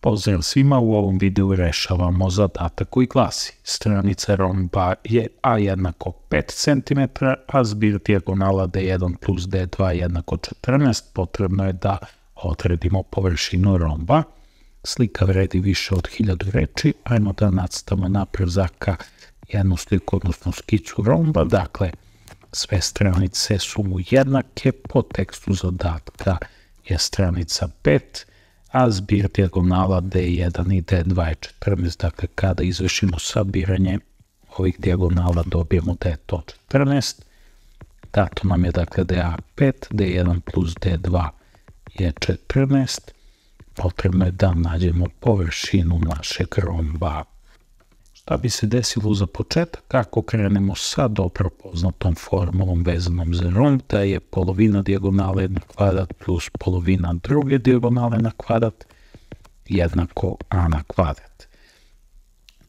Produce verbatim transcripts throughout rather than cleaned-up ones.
Pozdrav svima, u ovom videu rešavamo zadatak koji glasi: stranica romba je a jednako pet centimetara, a zbir dijagonala d jedan plus d dva jednako četrnaest. Potrebno je da odredimo površinu romba. Slika vredi više od hiljadu reči. Ajmo da nacrtamo napred zaka jednu sliku, odnosno skicu romba. Dakle, sve stranice su mu jednake, po tekstu zadatka je stranica pet, a zbir dijagonala d jedan i d dva je četrnaest. Dakle, kada izvršimo sabiranje ovih dijagonala dobijemo da je to četrnaest. Dato nam je dakle da je a pet, d jedan plus d dva je četrnaest. Potrebno je da nađemo površinu našeg romba. Šta bi se desilo za početak ako krenemo sa dobro poznatom formulom vezanom za romb, da je polovina dijagonale na kvadrat plus polovina druge dijagonale na kvadrat jednako a na kvadrat.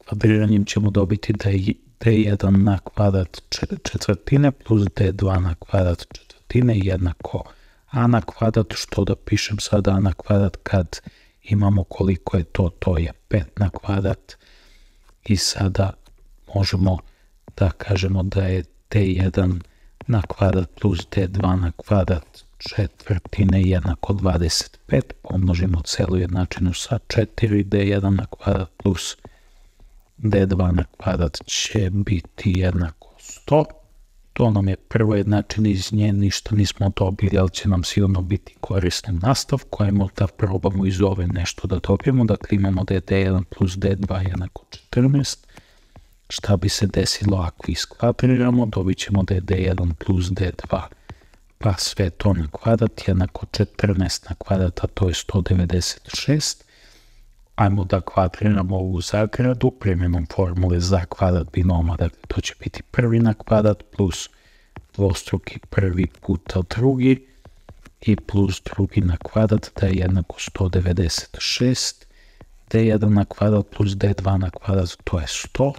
Kvadriranjem ćemo dobiti da je d jedan na kvadrat četvrtine plus d dva na kvadrat četvrtine jednako a na kvadrat. Što da pišem sada a na kvadrat kad imamo koliko je to, to je pet na kvadrat. I sada možemo da kažemo da je d jedan na kvadrat plus d dva na kvadrat četvrtine jednako dvadeset pet. Pomnožimo celu jednačinu sa četiri, d jedan na kvadrat plus d dva na kvadrat će biti jednako sto. To nam je prva jednačina, iz nje ništa nismo dobili, ali će nam sigurno biti korisno u nastavku. Ajmo da probamo iz ove nešto da dobijemo. Dakle, imamo da je d jedan plus d dva jednako četrnaest. Šta bi se desilo ako iskvadriramo? Dobit ćemo da je d jedan plus d dva pa sve to na kvadrat jednako četrnaest na kvadrat, a to je sto devedeset šest. Ajmo da kvadriramo ovu zagradu primjenom formule za kvadrat binoma. Dakle, to će biti prvi na kvadrat plus dvostruki prvi puta drugi i plus drugi na kvadrat, da je jednako sto devedeset šest. d jedan na kvadrat plus d dva na kvadrat, to je sto,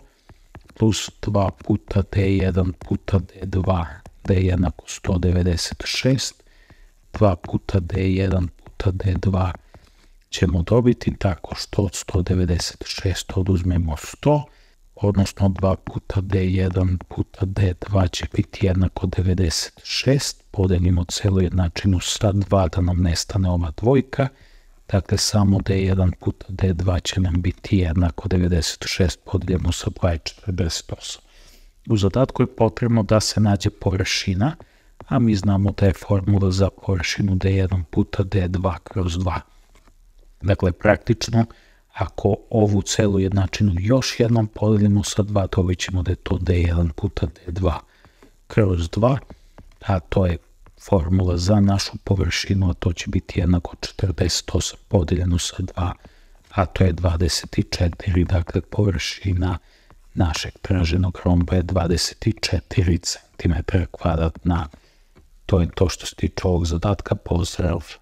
plus dva puta d jedan puta d dva, da je jednako sto devedeset šest. dva puta d jedan puta d dva ćemo dobiti tako što od sto devedeset šest oduzmemo sto, odnosno dva puta d jedan puta d dva će biti jednako devedeset šest. Podelimo celu jednačinu sa dva da nam nestane ova dvojka. Dakle, samo d jedan puta d dva će nam biti jednako devedeset šest, podeljemo sa dva je četrdeset osam. U zadatku je potrebno da se nađe površina, a mi znamo da je formula za površinu d jedan puta d dva kroz dva. Dakle, praktično, ako ovu celu jednačinu još jednom podelimo sa dva, dobit ćemo da je to d jedan puta d dva kroz dva, a to je formula za našu površinu, a to će biti jednako četrdeset osam podeljeno sa dva, a to je dvadeset četiri. Dakle, površina našeg traženog romba je dvadeset četiri centimetra kvadratna. To je to što se tiče ovog zadatka. Pozdrav!